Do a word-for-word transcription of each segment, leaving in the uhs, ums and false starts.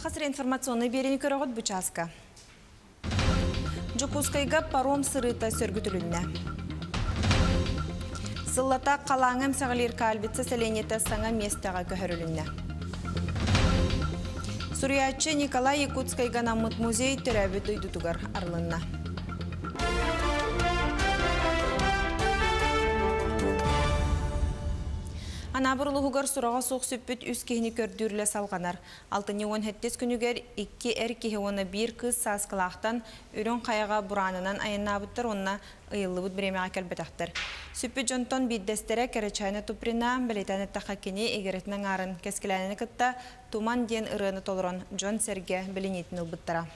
Саха сирэ информационнай биэриини көрөҕүт бу чааска. Дьокуускайга паром сырыыта сөргүтүлүннэ. Сыллата халааҥҥа эмсэҕэлиир Кальвица сэлиэнньэтэ саҥа миэстэҕэ көһөрүлүннэ. Суруйааччы Николай Якутскайга анаммыт музей төрөөбүт дойдутугар арылынна. Анаабыр улууһугар сураҕа суох сүппүт үс киһини көрдүүр үлэ салҕанар. Алтынньы уон сэттис күнүгэр икки эр киһи уонна биир кыыс Сааскылаахтан Үрүҥ Хайаҕа бураанынан айаннаабыттар уонна ыйыллыбыт бириэмэҕэ кэлбэтэхтэр. Сүппүт дьонтон биирдэстэрэ Кэрэчээнэ Туприна, бэлиэтээн эттэххэ кини игирэтин аҥаарын Кэскилээнэни кытта Туман диэн ырыаны толорон дьон-сэргэ билиниитин ылбыттара.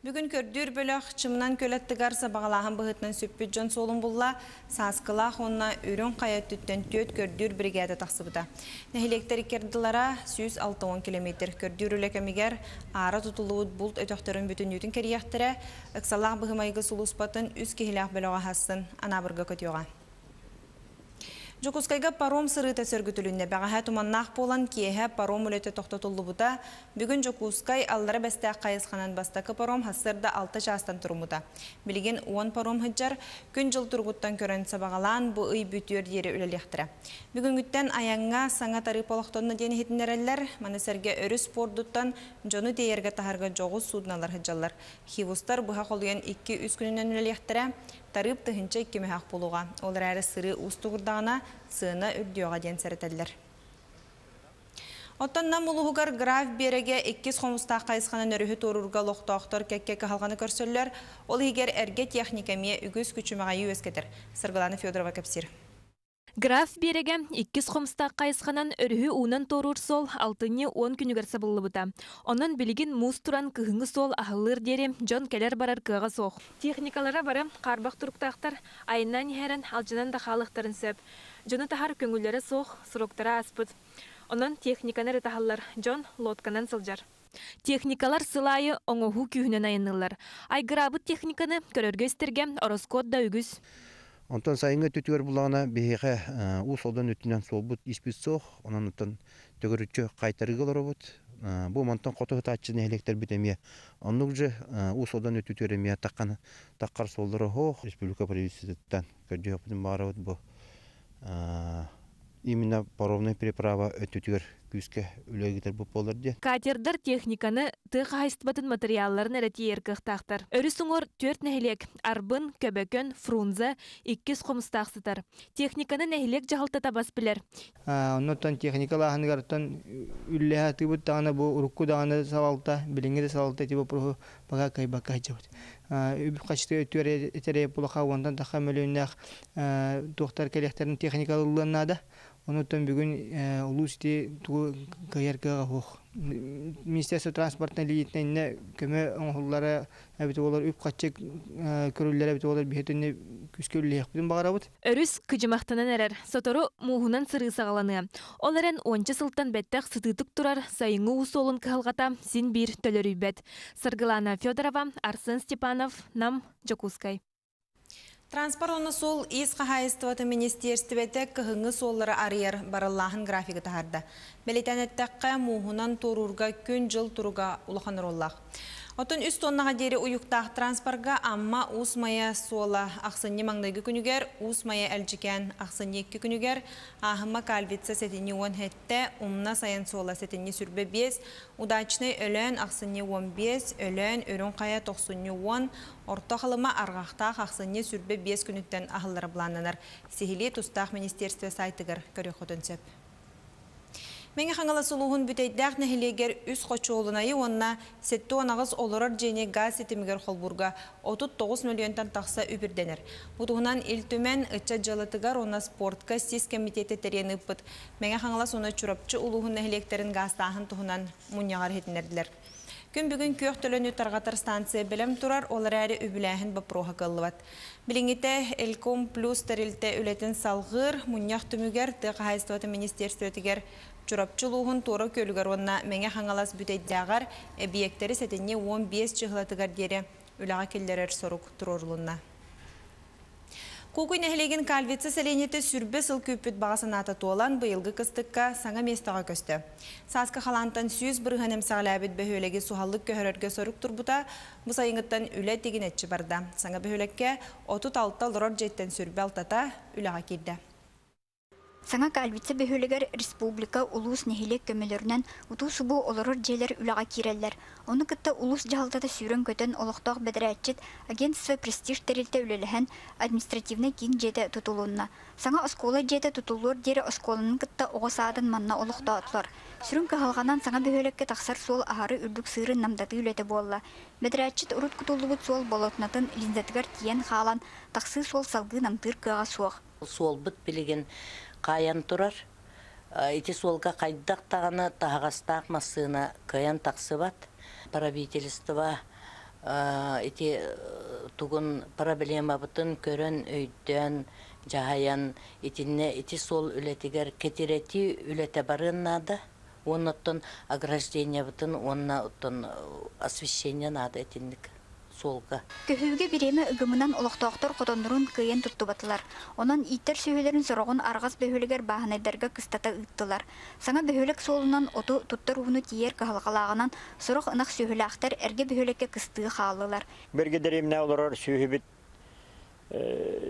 Бүгүн көрдүүр бөлөх Чымнан көл аттыгар сабаҕалааһын быһыытынан сүппүт дьон суолун булла, Сааскылаах уонна Үрүҥ Хайа өттүттэн түөрт көрдүүр биригээдэ тахсыбыта. Нэһилиэктэр икки ардылара сүүс алта уон километр. Көрдүүр үлэ кэмигэр аара тутуллубут булт өтөхтөрүн бүтүннүүтүн кэрийиэхтэрэ, ыксалаах быһыы-майгы сулууспатын үс киһилээх бөлөҕө аһассын Анаабырга көтүөҕэ. Дьокуускайга паром сырыыта сөргүтүлүннэ. Бэҕэһээ туманнаах буолан, киэһэ паром үлэтэ тохтотуллубута. Бүгүн Дьокуускай Аллара Бэстээх хайысханан бастакы паром сарсыарда алта чаастан туруммута. Билигин уон паром сылдьар, күн-дьыл туругуттан көрөн сабаҕалаан, бу ый бүтүөр диэри үлэлиэхтэрэ. Бүгүҥҥүттэн айаҥҥа саҥа тарыып олохтонно диэн иһитиннэрэллэр. Маны сэргэ өрүс пуордуттан дьону тиэйэргэ таһарга дьоҕус суудуналар сылдьаллар. Хивустар быһа холуйан икки-үс күнүнэн үлэлиэхтэрэ. Тарыып тыһыынча икки мөһөөх буолуоҕа. Ол эрээри сырыы уустугурдаҕына сыана үрдүөҕэ диэн сэрэтэллэр. Оттон Нам улууһугар Граф Биэрэгэ иккис Хомустаах хайысханан өрүһү туоруурга олохтоохтор кэккэ кыһалҕаны көрсөллөр. Ол иһигэр эргэ техника эмиэ үгүс күчүмэҕэйи үөскэтэр. Саргылана Федорова кэпсиир. Граф Биэрэгэ иккис Хомустаах хайысханан өрүһү уунан туоруур суол алтынньы уон күнүгэр сабыллыбыта. Онон билигин муус туран кыһыҥҥы суол аһыллыар диэри дьон кэлэр-барар кыаҕа суох. Техникалара бары хаарбах туруктаахтар, айаннаан иһэрэн алдьанан да хаалыахтарын сөп. Дьону таһар көҥүллэрэ суох, сроктара ааспыт. Онон техниканы эрэ таһаллар, дьон лодканан сылдьар. Техникалар сыл аайы оҥоһуу күүһүнэн айанныыллар. Айгыраабыт техниканы көрөргө-истэргэ ороскуот да үгүс. Онтон сайыҥҥы өттүтүгэр буллаҕына биһиэхэ Уус Алдан өттүнэн суолбут испит суох, онон оттон төгүрүччү хайтарыыга олоробут. Бу мантан хоту сытааччы нэһилиэктэрбит эмиэ оннук же Уус Алдан өттүтүгэр эмиэ таххан таххар суоллара суох. Республика правительствотыттан көрдүөхпүтүн баҕарабыт бу именно паромная переправа өттүтүгэр күүскэ үлэ ыытарбыт буолар диэн. Катердар техниканы, тыа хаһаайыстыбатын матырыйаалларын эрэ тиэйэр кыахтаахтар. Өрүс уҥуор түөрт нэһилиэк Арбын, Көбөкөн, Фрунзе, иккис Хомустаах сытар. Техниканы нэһилиэк дьаһалтата бас билэр. Оннуттан техникалааһыныгартан үллэһэ атыыбыт даҕаны бу урукку даҕаны салалта, билиҥҥи да салалта ити боппуруоһу пока кыайбакка сылдьабыт. Үп хачты өттүгэр этэрэ булаха уонтан тахха мөлүйүннээх туохтар кэлиэхтэрин техникалыллыан наада. Онуттан бүгүн улуус ити тугу кыайар кыаҕа суох. Министерство транспортной линиятынан иннэ көмө оҥоһуллара эбит буолар, үп хаччы көрүллэрэ эбит буолар, биһи түнне күүскэ үлэлиэхпитин баҕарабыт. Өрүс кыдьымахтанан эрэр, сотору мууһунан сырыы саҕаланыа. Ол эрэн уонча сылтан бэттэх сытыытык турар сайыҥҥы уу суолун кыһалҕата син биир төлөрүйбэт. Саргылана Федорова, Арсен Степанов, Нам, Дьокуускай. Транспорт уонна суол-иис хаһаайыстыбатын министиэристибэтэ кыһыҥҥы суоллары арыйар барыллааһын графигы таһаарда. Бэлиэтээн эттэххэ, мууһунан туоруурга күн-дьыл туруга улахан оруоллаах. Оттон үс тоннаҕа диэри уйуктаах транспорга Амма Уус Майа суола ахсынньы маҥнайгы күнүгэр, Уус Майа Элдьикээн ахсынньы икки күнүгэр, Ааһыма Кальвица сэтинньи уон сэттэ, Умна Сайын суола сэтинньи сүүрбэ биэс, Удачнай Өлөөн ахсынньы уон биэс, Өлөөн Үрүҥ Хайа тохсунньу уон, Орто Халыма Арҕахтаах ахсынньы сүүрбэ биэс күнүттэн аһыллара былааннанар. Сиһилии тустаах министерство сайтыгар көрүөххүтүн сөп. Мэҥэ Хаҥалас улууһун Бүтэйдээх нэһилиэгэр үс хочуолунайы уонна сэттэ уон аҕыс олорор дьиэни газ ситимигэр холбуурга отут тоҕус мөлүйүөнтэн тахса үп ирдэнэр. Бу туһунан Ил Түмэн ыччат дьыалатыгар уонна спортка сис кэмитиэтэ тэрийэн ыыппыт Мэҥэ Хаҥалас уонна Чурапчы улууһун нэһилиэктэрин гаастааһын туһунан мунньаҕар иһитиннэрдилэр. Күн бүгүн күөх төлөнү тарҕатар станция бэлэм турар, ол эрээри үбүлээһин боппуруоһа кыаллыбат. Билиҥҥитэ Элком плюс тэрилтэ үлэтин салҕыыр, мунньах түмүгэр тыа хаһаайыстыбатын министиэристибэтигэр Чурапчы улууһун Туора Күөлүгэр уонна Мэҥэ Хаҥалас Бүтэйдээҕэр эбийиэктэри сэтинньи уон биэс чыһылатыгар диэри үлэҕэ киллэрэр сорук туруорулунна. Куокуй нэһилиэгин Кальвица сэлиэнньэтэ сүүрбэ сыл күүппүт баҕа санаата туолан, быйылгы кыстыкка саҥа миэстэҕэ көстө. Сааскы халаантан сүүс бырыһыан эмсэҕэлээбит бөһүөлэги суһаллык көһөрөргө сорук турбута, бу сайыҥҥыттан үлэ тигинэччи барда. Саҥа бөһүөлэккэ отут алта олорор дьиэттэн сүүрбэ алтата үлэҕэ киирдэ. Саҥа Кальвица бөһүөлэгэр республика, улуус, нэһилиэк көмөлөрүнэн утуу-субуу олорор дьиэлэр үлэҕэ киирэллэр. Ону кытта улуус дьаһалтата сүүрэн-көтөн олохтоох бэдэрээтчит агентство Престиж тэрилтэ үлэлэһэн административнай киин дьиэтэ тутулунна. Саҥа оскуола дьиэтэ тутуллуор диэри оскуоланы кытта оҕо саадын манна олохтоотулар. Сүрүн кыһалҕанан саҥа бөһүөлэккэ тахсар суол аһары үрдүк сыырын намтатыы үлэтэ буолла. Бэдэрээтчит урут кутуллубут суол болотунатын линзатыгар тиийэн хаалан тахсыы суол салгыы намтыыр кыаҕа суох. Суолбут билигин кайан турар. Ити суолга хайдах таҕаны таһаҕастаах массыына кыайан тахсыбат. Правительство ити тугун проблемабытын көрөн, өйдөөн, дьаһайан итиннэ ити суол үлэтигэр кетирети үлэтэ барыан наада. Оннуттан ограждениябытын, уонна оттон освещение наада итинник суолга. Көһүүгэ бириэмэ ыгымынан олохтоохтор хотоннорун кыайан туттубатылар. Онон ииттэр сүөһүлэрин сороҕун арҕас бөһүөлэгэр бааһынайдарга кыстата ыыттылар. Саҥа бөһүөлэк суолунан оту туттар ууну тиийэр кыһалҕалааҕынан сорох ынах сүөһүлээхтэр эргэ бөһүөлэккэ кыстыы хааллылар. Бэргэ дэриэбинэ олорор сүөһүбүт,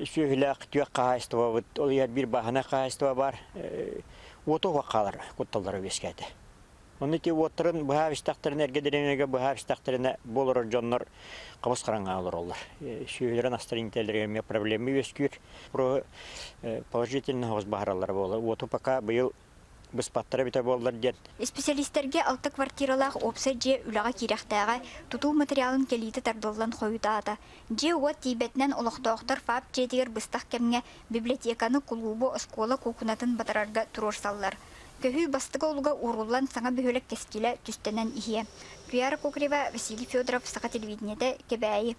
сүөһүлээх түөх хаһаайыстыбабыт, ол иһэр биир бааһынай хаһаайыстыба бар, уоту хаалар кутталлара үөскээтэ. Онно ити уоттарын быһаа истэхтэринэ, эргэ дэриэбинэгэ быһаа истэхтэринэ буолар дьоннор кабыс хараҥа олороллор. Сүөһүлэрин астарын иитэллэригэр эмиэ проблема үөскүүр. Про положительно хоҕус баһараллар буолар. Уоту пока быйыл быспаттара бүтэ буоллар диэн. Специалистэргэ алта квартиралаах уопсай дьиэ үлэҕэ киирэхтээҕэ тутуу материалын кэлиитэ тардыллан хойутаата. Дьиэ уот тиийбэтинэн олохтоохтор ФАП дьиэтигэр быстах кэмҥэ библиотеканы, кулуубу, оскуола куукунатын батарарга туруорсаллар. Көһүү бастыга олуга ууруллан саҥа бөһүөлэк кэскилэ түстэнэн иһиэ. Туяра Кокарева, Василий Федоров, Саха телевидениетэ, Кэбээйи.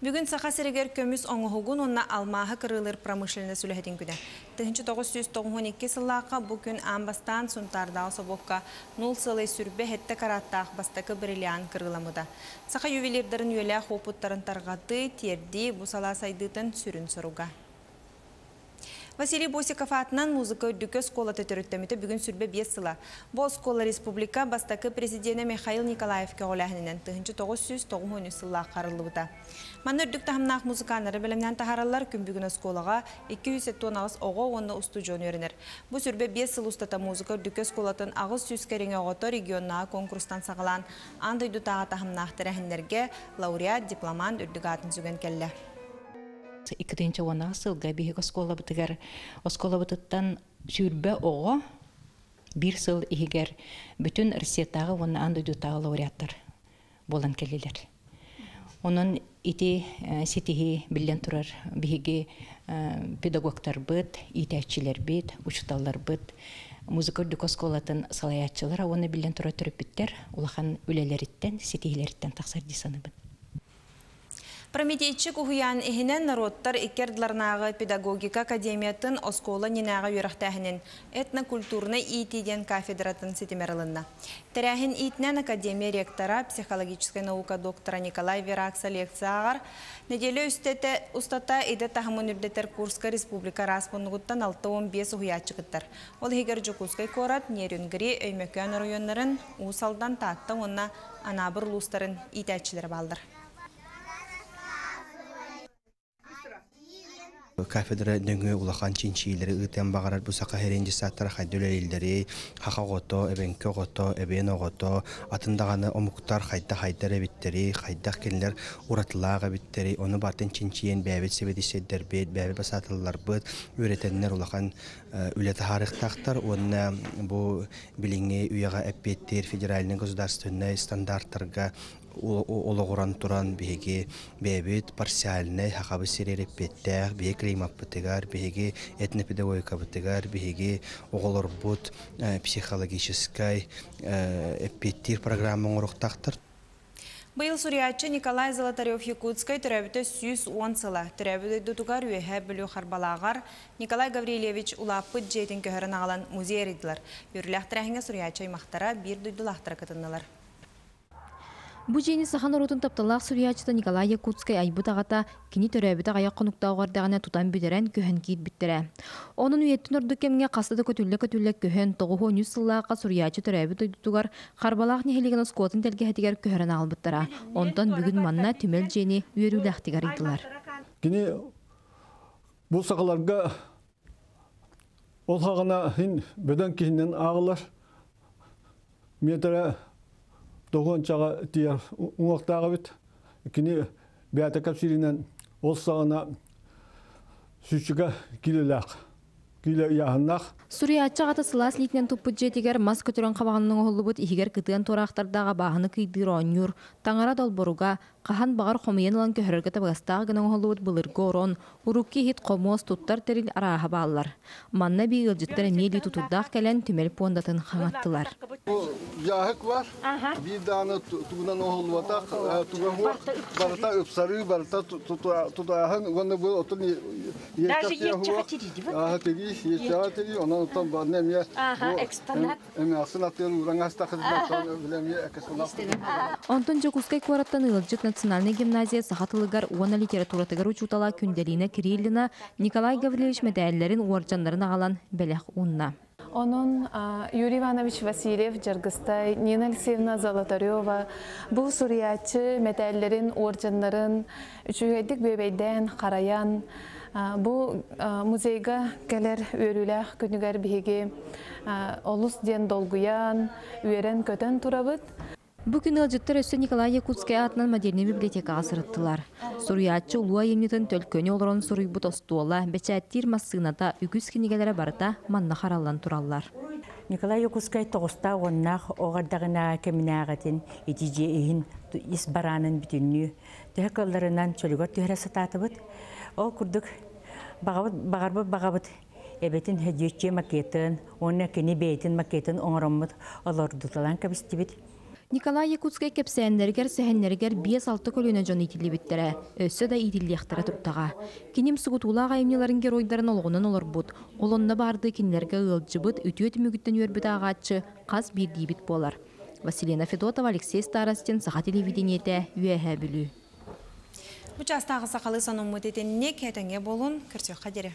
Бүгүн Саха сиригэр көмүс оҥоһугун уонна алмааһы кырыылыыр промышленность үлэһитин күнэ. Тыһыынча тоҕус сүүс тоҕуһун икки сыллаахха бу күн аан бастаан Сунтаардаах собуокка нул сылай сүрбэ хэтте караттаах бастакы бриллиант кырыыламмыта. Саха ювелирдарын үөлээх опыттарын тарҕатыы, тиэрдии бу салаа сайдыытын сүрүн соруга. Василий Босиков атынан музыка үрдүкү оскуолата төрүттэммитэ бүгүн сүүрбэ биэс сыла. Бу оскуола республика бастакы президенэ Михаил Николаев көҕүлээһининэн тыһыынча тоҕус сүүс тоҕуһун үс сыллаах арыллыбыта. Манна үрдүк таһымнаах музыканнары бэлэмнээн таһаараллар, күн бүгүн оскуолаҕа икки сүүс сэттэ уон аҕыс оҕо уонна устудьуон үөрэнэр. Бу сүүрбэ биэс сыл устата музыка үрдүкү оскуолатын аҕыс сүүс кэриҥэ оҕото регионнааҕы конкурстан саҕалаан аан дойдутааҕы таһымнаах тэрээһиннэргэ лауреат, дипломант үрдүк аатын сүгэн кэллэ. Иккитинчи уон сылга биһиги оскуолабытыгар оскуолабытыттан сүүрбэ оҕо биир сыл иһигэр бүтүн Россиятааҕы уонна аан дойдутааҕы лауреаттар буолан кэллилэр. Онон ити ситиһи биллэн турар биһиги педагогтарбыт, иитээччилэрбит, учуталларбыт, музыка үрдүк оскуолатын салайааччылара уонна биллэн турар төрөппүттэр улахан үлэлэриттэн, ситиһилэриттэн тахсар дии саныыбын. Прометейчик уһуйаан иһинэн народтар иккердларнааҕы педагогика академиятын оскуола нинааҕы үөрэхтээһинин этнокультурнай иитии диэн кафедратын ситимэр ылынна. Тэрээһин иитинэн академия ректора, психологическай наука доктора Николай Веракса лекция ааҕар. Нэдиэлэ үстэтэ устата идэ таһымын үрдэтэр курска республика араас муннугуттан алта уон биэс уһуйааччы кыттар. Ол иһигэр Дьокуускай куорат, Нерюнгри, Өймөкөөн оройуоннарын, Уус Алдан, Таатта уонна Анаабыр улуустарын иитээччилэрэ бааллар. Кафедра нөҥүө улахан чинчиилэри ыытыан баҕарар бу саха сирин дьыссааттара хайда үлэлииллэри, хаха оҕото, эбэҥки оҕото, эбиэн оҕото, атын даҕаны омуктар хайда хайдар эбиттэри, хайдах кинилэр уратылаах эбиттэри, ону бартын чинчийэн бэйэбит сэбиэдиссэйдэрбит, бэйэбит басаатылларбыт, үөрэтэннэр улахан үлэ таһаарыахтаахтар уонна бу билиҥҥи үйэҕэ эппиэттиир федеральнай государственнай стандарттарга олоҕуран туран биһиги бэйэбит парциальнай хахабыт сирэр эппиэттээх, биһиги климаппытыгар, биһиги этнопедагогикабытыгар, биһиги оҕолорбут психологическай эппиэттиир программа оҥоруохтаахтар. Быйыл суруйааччы Николай Золотарев-Якутскай төрөөбүтэ сүүс уон сыла. Төрөөбүт дойдутугар Үөһээ Бүлүү Харбалааҕар Николай Гаврильевич улааппыт дьиэтин көһөрөн аҕалан музей арыйдылар. Үөрүүлээх тэрээһиҥҥэ суруйааччы аймахтара, биир дойдулаахтара кытыннылар. Бу дьиэни саха норуотун тапталлаах суруйааччыта Николай Якутскай айбыт аҕата кини төрөөбүтэ аҕыйах хонуктаах эрдэҕинэ тутан бүтэрэн көһөн киирбиттэрэ. Онон үйэттэн ордук кэмҥэ хаста да көтүллэ-көтүллэ көһөн, тоҕус уон үс сыллаахха суруйааччы төрөөбүт дойдутугар Харбалаах нэһилиэгин оскуолатын тэлгэһэтигэр көһөрөн аҕалбыттара. Онтон бүгүн манна түмэл дьиэни үөрүүлээхтик арыйдылар. Кини бу сахаларга ол хаҕына хин бөдөҥ киһинэн ааҕылар метрэ тоҕуончаҕа тиийэр уҥуохтаах эбит. Кини бэйэтэ кэпсииринэн ол саҕана сүүсчүкэ киилэлээх, киилэ ыйааһыннаах. Суруйааччы аҕата сылаас илиитинэн туппут дьиэтигэр мас көтөрөн хабаҕынан оҥоһуллубут иһигэр кытыан туораахтардаах абааһыны кыйдыыр оонньуур, таҥара долборуга, хаһан баҕар хомуйан ылан көһөрөргө табыгастаах гына оҥоһуллубут былыргы орон, урукку иһит хомуос туттар тэрил арааһа бааллар. Манна эбии ыалдьыттар эмиэ илии тутуурдаах кэлэн түмэл пуондатын хаҥаттылар. Дьааһык бар, биир даҕаны тугунан оһоллубатах, туга хуох, барыта ыпсарыы, барыта тутааһын, уонна бу отун иэччэхэ тири, иэччэхэ тири, онон оттон барна эмиэ эмиэ аттыыр ууран астахытынан билэмиэ экспонат. Онтон Дьокуускай куораттан ыалдьыт национальнай гимназия саха тылыгар уонна литературатыгар учуутала Күндэлина Кириллина Николай Гаврильевич мэтээллэрин уордьаннарын аҕалан бэлэх уунна. Онон Юрий Иванович Васильев Жаргыстай, Нина Алексеевна Золотарева бу суруйааччы мэтээллэрин уордьаннарын үчүгэйдик бүөбэйдээн харайан бу музейга кэлэр үөрүүлээх күнүгэр биһиги олус диэн долгуйан, үөрэн-көтөн турабыт. Бу күн ыалдьыттар өссө Николай Якутскай аатынан модельнай библиотекаҕа сырыттылар. Суруйааччы улуу айымньытын төлкөнү олорон суруйбут остуола, бэчээттиир массыыната, үгүс кинигэлэрэ барыта манна хараллан тураллар. Николай Якутскай тоҕустаах уоннаах оҕордаҕына кэминээҕитин ити дьиэ иһин ис бараанын бүтүннүү төһө кылларынан чөлүгэр түһэрэ сатаатыбыт. Ол курдук баҕабыт баҕарбыт баҕабыт эбэтин хэдьиэччи макетын уонна кини бэйэтин макетын оҥороммут олордуталаан кэбистибит. Николай Якутскай кэпсээннэригэр сэһэннэригэр биэс алта көлүөнэ дьон иитиллибиттэрэ, өссө да иитиллиэхтэрэ турдаҕа. Киним сугутуулаах айымньыларын геройдарын олоҕунан олорбут, ол онно баардыы кинилэргэ ыалдьыбыт, үтүө түмүгүттэн үөрбүт ааҕааччы хас биирдиибит буолар. Василина Федотова, Алексей Старостин, Саха телевидениетэ, Үөһээ Бүлүү. Бу чаастааҕы сахалыы сонуммут итинник, этэҥҥэ буолун, көрсүөххэ диэри.